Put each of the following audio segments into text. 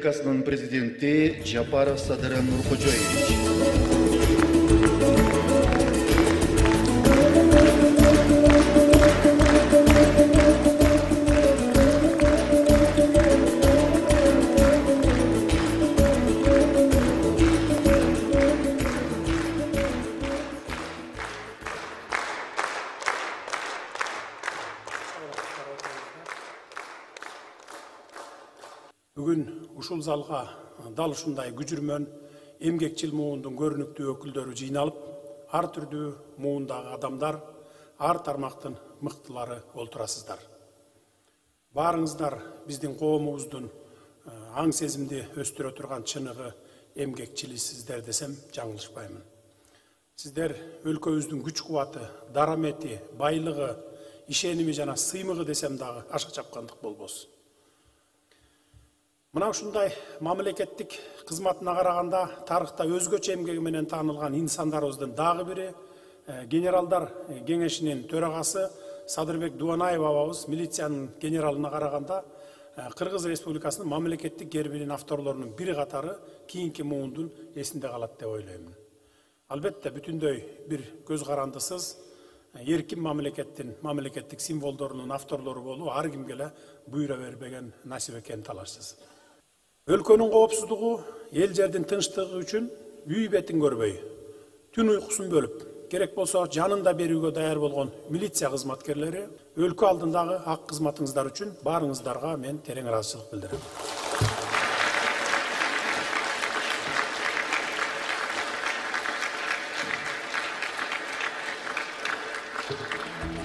Республикасынын президенти Жапаров Садыр Нуркожоевич. Бүгүн ушул залга дал ушундай күжүрмөн эмгекчил муундун көрүнүктүү өкүлдөрү жыйналып, ар түрдүү муундагы адамдар, ар тармактын мыктылары олтурасыздар. Баарыңыздар биздин коомубуздун аң сезимди өстүрө турган чыныгы эмгекчилисиздер десем жаңылышпаймын. Сиздер өлкөбүздүн күч кубаты, дарамети, байлыгы, ишеними жана сыймыгы десем дагы аша чапкандык болбосун. Мына ушундай мамлекеттик кызматына караганда тарыхта өзгөчө эмгеги менен таанылган инсандарыбыздын дагы бири генералдар кеңешинин төрагасы Садырбек Дубанаев абабыз милициянын генералына караганда Кыргыз Республикасынын мамлекеттик гербинин авторлорунун бири катары кийинки муундун эсинде калат деп ойлоймун. Албетте бүтүндөй бир көз карандысыз эркин мамлекеттик символдорунун авторлору болуу ар кимге эле буйра бербеген насип экенин талашсыз. Өлкөнүн коопсуздугу, эл жердин тынчтыгы үчүн үй бетин көрбөй, түн уйкусун бөлүп, керек болсо жанын да берүүгө даяр болгон милиция кызматкерлери өлкө алдындагы ак кызматыңыздар үчүн баарыңыздарга мен терең ыраазычылык билдирем.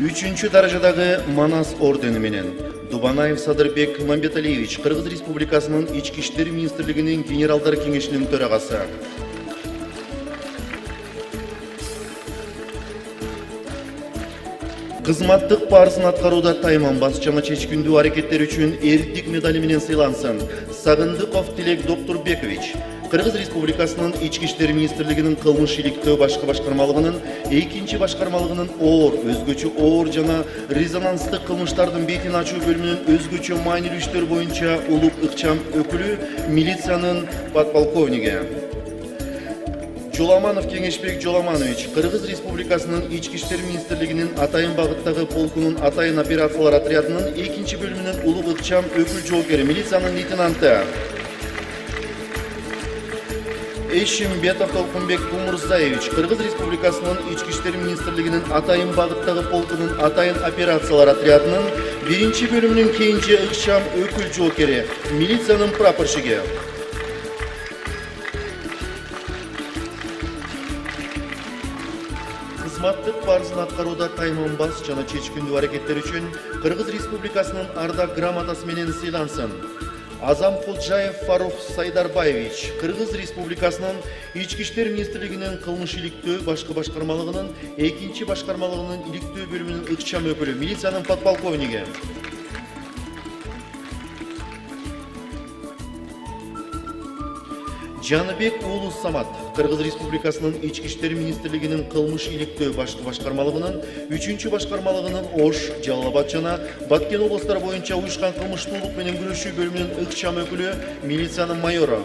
Үчүнчү даражадагы Манас ордени менен Дубанаев Садырбек Мамбеталиевич, Кыргыз Республикасынын Ички иштер министрлигинин генералдар кеңешинин төрагасы. Кызматтык парызын аткарууда тайманбас жана чечкиндүү аракеттери үчүн эрдик медали менен сыйлансын Сагындыков Тилек Доктурбекович, Кыргыз Республикасынын Ички иштер министрлигинин кылмыш иликтөө башкы башкармалыгынын 2-чи башкармалыгынын өзгөчө оор жана резонанстык кылмыштардын бетин ачуу бөлүмүнүн өзгөчө маанилүү иштер боюнча улук ыкчам өкүлү милициянын подполковниги. Жоламанов Кеңешбек Жоламанович, Кыргыз Республикасынын Ички иштер министрлигинин Атайын багыттагы полкунун Атайын операциялар отрядынын 2-чи бөлүмүнүн улук ыкчам өкүл жоокери милициянын лейтенанты. Эшимбетов Толкунбек Умурзаевич, Кыргыз Республикасынын Ички иштер министрлигинин Атайын багыттагы полкунун Атайын операциялар отрядынын 1-чи бөлүмүнүн кенже ыкчам өкүл жоокери милициянын прапорщиги. Кызматтык парызын аткарууда тайманбас жана чечкиндүү аракеттери үчүн Кыргыз Республикасынын ардак грамотасы менен сыйлансын Азамкулжаев Фарух Сайдарбаевич, Кыргыз Республикасынын Ички иштер министрлигинин кылмыш иликтөө башкы башкармалыгынын 2-чи башкармалыгынын иликтөө бөлүмүнүн ыкчам өкүлү милициянын подполковниги. Жаныбек Уулу Самат, Кыргыз Республикасынын Ички иштер министрлигинин кылмыш иликтөө башкы башкармалыгынын 3-чү башкармалыгынын Ош, Жалал Абад жана Баткен областары боюнча уюшкан кылмыштуулук менен күрөшүү бөлүмүнүн ыкчам өкүлү милициянын майору.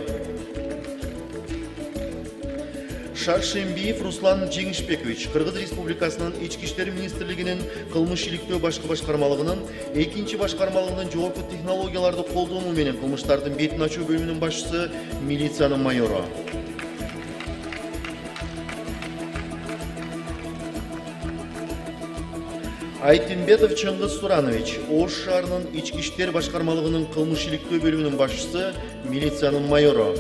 Шаршембиев Руслан Жеңишбекович, Кыргыз Республикасынын Ички иштер министрлигинин кылмыш иликтөө башкы башкармалыгынын 2-чи башкармалыгынын жогорку технологияларды колдонуу менен кылмыштардын бетин ачуу бөлүмүнүн башчысы милициянын майору. Айтимбетов Чыңгыз Суранович, Ош шаарынын Ички иштер башкармалыгынын кылмыш иликтөө бөлүмүнүн башчысы милициянын майору.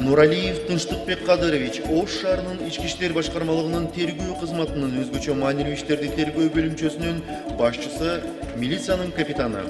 Нуралиев Тынчтыкбек Кадырович, Ош шаарынын Ички иштер башкармалыгынын тергөө кызматынын өзгөчө маанилүү иштерди тергөө бөлүмчөсүнүн башчысы милициянын капитаны.